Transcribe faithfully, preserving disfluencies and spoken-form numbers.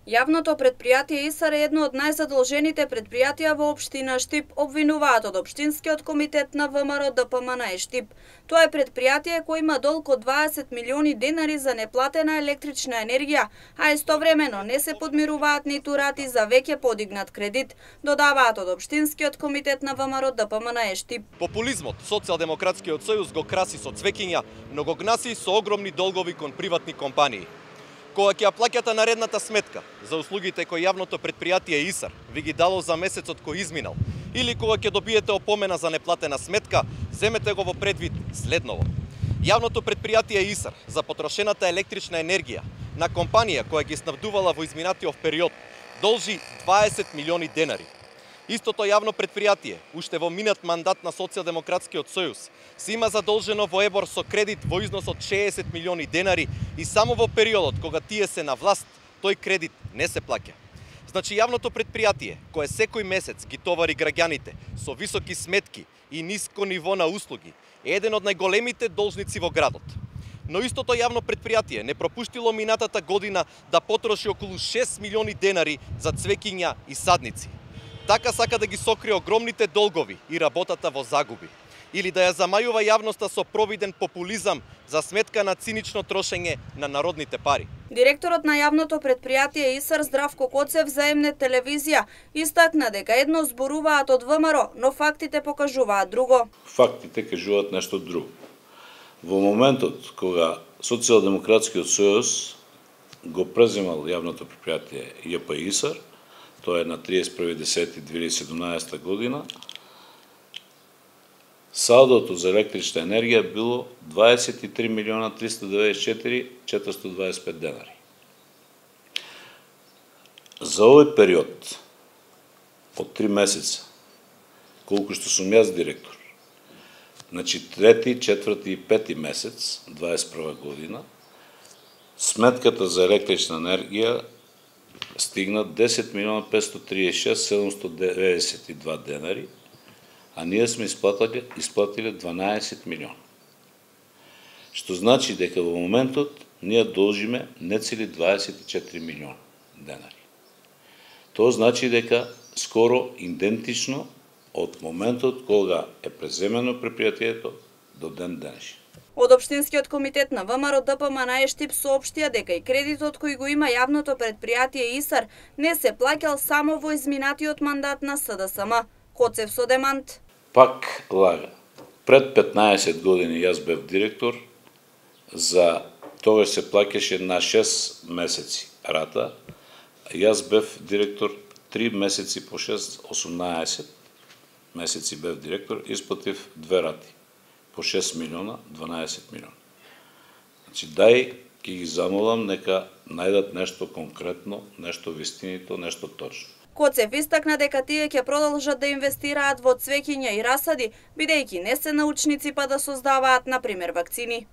Јавното предпријатие ИСАР е едно од најзадолжените предпријатија во општина Штип, обвинуваат од Општинскиот комитет на ВМРО ДПМН Штип. Тоа е предпријатие кој има долг од дваесет милиони денари за неплатена електрична енергија, а истовремено не се подмируваат ниту рати за веќе подигнат кредит, додаваат од Општинскиот комитет на ВМРО ДПМН Штип. Популизмот Социјалдемократскиот сојуз го краси со цвеќиња, но го гнаси со огромни долгови кон приватни компании. Кога ќе ја плаќате наредната сметка за услугите кои јавното предпријатие ИСАР ви ги дало за месецот кој изминал, или кога ќе добиете опомена за неплатена сметка, земете го во предвид следново. Јавното предпријатие ИСАР за потрошената електрична енергија на компанија која ги снабдувала во изминатиот период должи дваесет милиони денари. Истото јавно предпријатие, уште во минат мандат на Социјалдемократскиот сојуз, се има задолжено во ЕБОР со кредит во износ од шеесет милиони денари и само во периодот кога тие се на власт, тој кредит не се плаќа. Значи јавното предпријатие, кое секој месец ги товари граѓаните со високи сметки и ниско ниво на услуги, е еден од најголемите должници во градот. Но истото јавно предпријатие не пропуштило минатата година да потроши околу шест милиони денари за цвеќиња и садници. Така сака да ги сокрие огромните долгови и работата во загуби, или да ја замајува јавноста со провиден популизам за сметка на цинично трошење на народните пари. Директорот на јавното предпријатие ИСАР Здравко Коцев за М-нет телевизија истакна дека едно зборуваат од ВМРО, но фактите покажуваат друго. Фактите кажуваат нешто друго. Во моментот кога Социјалдемократскиот сојуз го преземал јавното предпријатие ЈП ИСАР, тоа е на триесет и први десети две илјади и седумнаесета година, салдото за електрична енергија било дваесет и три милиона триста деветдесет и четири илјади четиристотини дваесет и пет денари. За овој период од три месеца, колку што сум јас директор, значи трети, четврти и пети месец, дваесет и прва година, сметката за електрична енергија стигна десет милиона петстотини триесет и шест илјади седумстотини деветдесет и два денари, а ние сме исплатили, исплатили дванаесет милиона. Што значи дека во моментот ние должиме нецели дваесет и четири милиона денари. Тоа значи дека скоро идентично од моментот кога е преземено предпријатието до ден денешен. Од Општинскиот комитет на ВМРО ДПМН Штип соопштија дека и кредитот кој го има јавното предпријатие ИСАР не се плаќал само во изминатиот мандат на СДСМ. Коцев со демант. Пак лага. Пред петнаесет години јас бев директор, за тогаш се плаќаше на шест месеци рата, јас бев директор три месеци по шест, осумнаесет месеци бев директор, исплатив две рати по шест милиона, дванаесет милиона. Значи, дај, ќе ги замолам, нека најдат нешто конкретно, нешто вистинито, нешто точно. Коцев истакна дека тие ќе продолжат да инвестираат во цвеќиња и расади, бидејќи не се научници па да создаваат, например, вакцини.